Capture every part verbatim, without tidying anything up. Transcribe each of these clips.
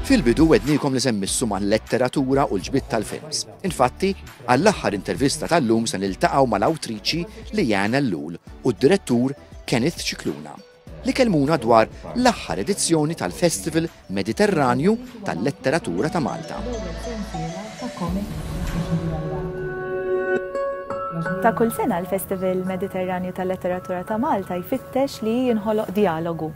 Fil-bidu wegħednikom li se mmissu mal-letteratura u l-ġbid tal-films. Infatti, għall-aħħar intervista tal-lum se niltaqgħu mal-awtriċi Leanne Ellul u d-direttur Kenneth Scicluna li kellmuna dwar l-aħħar edizzjoni tal-Festival Mediterranju tal-Letteratura ta' Malta. Ta' kull sena l-Festival Mediterranju tal-Letteratura ta' Malta jfittex li jinħoloq dialogu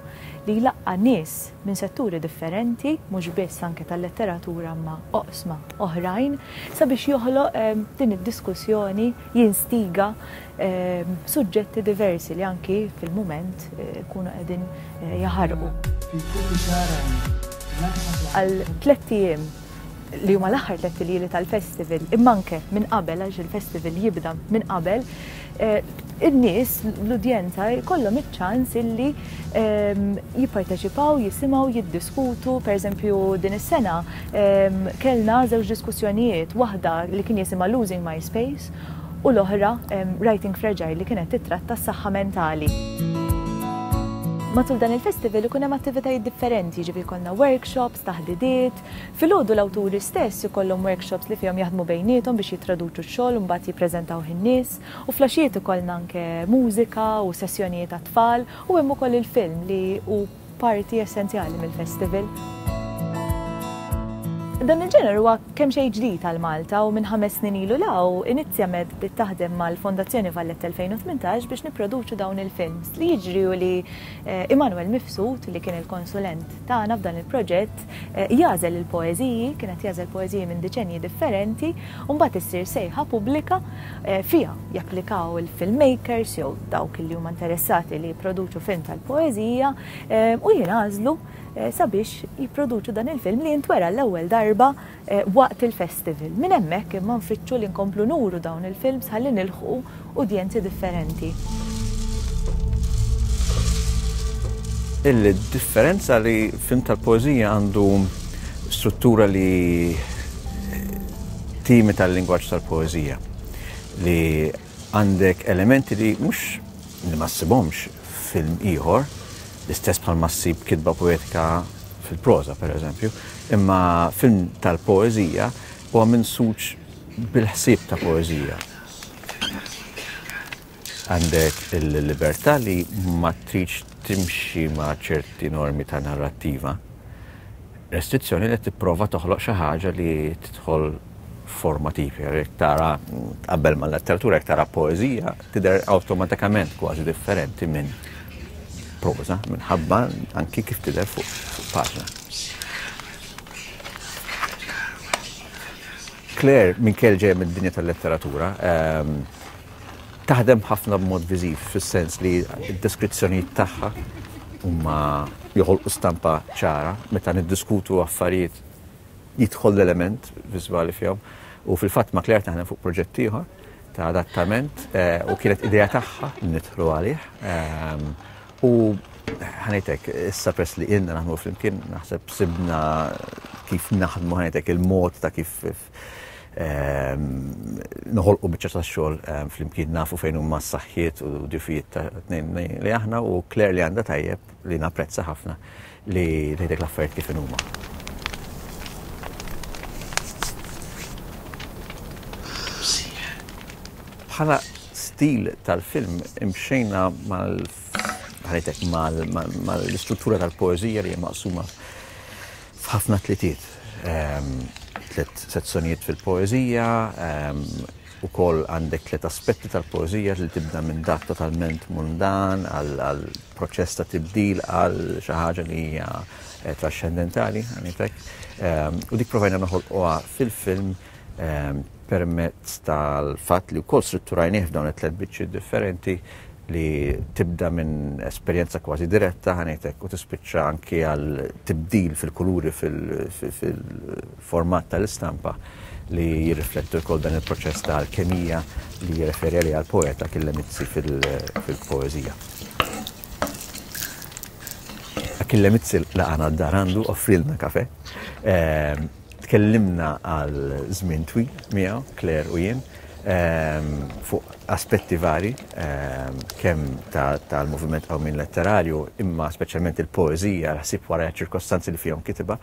li jlaqqa' nies minn setturi differenti, mhux biss anke tal-letteratura ma oqsma oħrajn, sabiex joħloq eh, din id-diskussjoni, jinstiga eh, suġġetti diversi li anki fil-mument eh, kunu qegħdin eh, jaħarqu. Għal tlett ijiem li huma l-aħħar tliet iljieli tal-festival, imma anke minn qabel, għax il-festival jibda minn qabel, eh, in-nies, l-udjenza jkollhom iċ-ċans illi ehm, jipparteċipaw, jisimgħu, jiddiskutu. Per eżempju, din is-sena ehm, kellna żewġ diskussjonijiet, waħda li kien jisimha Losing My Space u l-oħra ehm, Writing Fragile, li kienet titratta s-saħħa mentali. Matul dan il-festival ikun hemm attivitajiet differenti, ġifieri jkollna workshops, taħdidiet. Filgħodu l-awturi stess ikollhom workshops li fihom jaħdmu bejniethom biex jittraduċu x-xogħol u mbagħad jippreżentaw in-nies. U filgħaxijiet ikollna anke mużika u sessjonijiet għat-tfal u hemm ukoll il-film li hu parti essenzjali mill-festival. Dan il-ġener huwa kemm xejn ġdid għal Malta u minn ħames snin ilu 'l hawn Inizjamed bdiet taħdem mal-Fondazzjoni Valletta elfejn u tmintax biex nipproduċu dawn il-films. Li jiġri u li eh, Immanuel Mifsud, li kien il-konsulent tagħna f'dan il-proġett, eh, jagħżel il-poeżiji, kienet jagħżel poeżiji minn diċenji differenti, u mbagħad issir sejħa pubblika eh, fiha japplikaw il-filmmakers jew dawk li huma interessati li jipproduċu film tal-poeżija u jingħażlu sabiex jipproduċu dan il-film li jintwera l-ewwel darba waqt il-festival. Minn hemmhekk imma nfittxu li nkomplu nuru dawn il-films ħalli nilħqu udjenzi differenti. Il-differenza li film tal-poeżija għandu struttura li timita l-lingwaġġ tal-poeżija, li għandek elementi li mhux li ma ssibhomx film ieħor, l-istess bħal ma ssib kitba poetika fil-proża, per eżempju, imma film tal-poeżija huwa minsuġ bil-ħsieb ta' poeżija. Għandek il-libertà li ma tridx timxi ma' ċerti normi ta' narrattiva. Restrizzjoni li tipprova toħloq xi ħaġa li tidħol forma tipika. Jekk tara tqabbel mal-letteratura, jekk tara poeżija, tidher awtomatikament kważi differenti minn proża, minħabba anki kif tidher fuq paġna. Claire, minkejja ġejja mid-dinja tal-letteratura, ehm, taħdem ħafna b'mod viżiv, fis-sens li d-deskrizzjonijiet tagħha huma joħolqu stampa ċara, meta niddiskutu affarijiet jidħol l-element viżwali fihom. U fil-fatt ma' Claire taħdem fuq proġett ieħor ta' adattament, eh, u kienet idea tagħha nidħlu għalih. Ehm, u ħanejtek, issa press li ilna naħdmu flimkien, naħseb sibna kif naħdmu, ħanejtek il-mod ta' kif ehm, noħolqu biċċa ta' xogħol, ehm, flimkien, nafu fejn huma s-saħħiet u dgħufijiet ta' tnejn li aħna, u Claire li għandha tajjeb li napprezza ħafna li tgħidlek l-affarijiet kif huma. Bħala stil tal-film imxejna mal ħanejtek mal-istruttura tal-poeżija li hija maqsuma f'ħafna tlitiet. Ehm, tliet sezzjonijiet fil-poeżija, ehm, ukoll għandek tliet aspetti tal-poeżija li tibda minn dak totalment mundan għal proċess ta' tibdil għal xi ħaġa li hija, eh, trascendentali, ħanejtek. Ehm, u dik provajna noħolquha fil-film, ehm, permezz tal-fatt li wkoll strutturajnieh f'dawn it-tliet biċċiet differenti li tibda minn esperjenza kważi diretta, ħanejtek, u tispiċċa anki għal tibdil fil-kuluri fil-format tal-istampa li jirriflettu wkoll dan il-proċess ta' alkemija li jirreferi għalih għal-poeta Achille Mizzi fil-poeżija. Achille Mizzi laqana d-dar għandu, offrilna kafe. Ehm, tkellimna għal żmien twil miegħu, Claire u jien. ehm, fuq aspetti vari, ehm, kemm tal-moviment Qawmien Letterarju, imma speċjalment il-poeżija, l-ħsieb wara ċirkostanzi li fihom kitibha.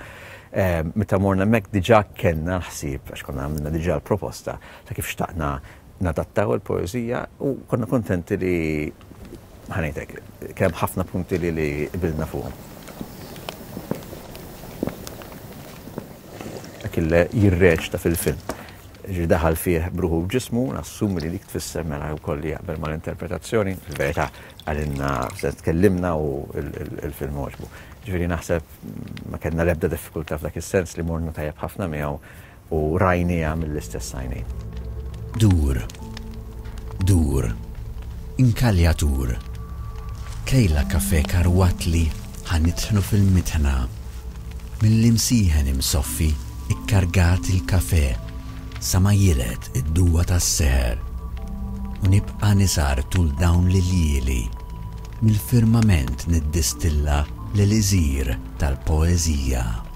Ehm, meta morna hemmhekk diġà kellna l-ħsieb, għax konna għamilna diġà l-proposta ta' kif xtaqna nadattaw il-poeżija u konna kontenti li, ħa ngħidlek, kemm ħafna punti li li qbilna fuqhom. Achille jirreċta fil-film. Ġi daħal fih bruħu b'ġismu, nassumi li dik tfisser mela wkoll li jaqbel mal-interpretazzjoni, fil-verità għalinna se tkellimna u il-film għoġbu. Ġifieri naħseb ma kellna l-ebda diffikultà f'dak is-sens li morna tajjeb ħafna miegħu u rajniha mill-istess għajnejn. Dur, dur, inkaljatur, kejla kafe karwatli ħanitħnu fil-mitħna, mill-imsieħen imsoffi ikkargat il-kafe sa ma jilet id-duwa tas-seħer u nibqa' nisar tul dawn l-iljieli mill-firmament niddistilla l-eliżir tal-poeżija.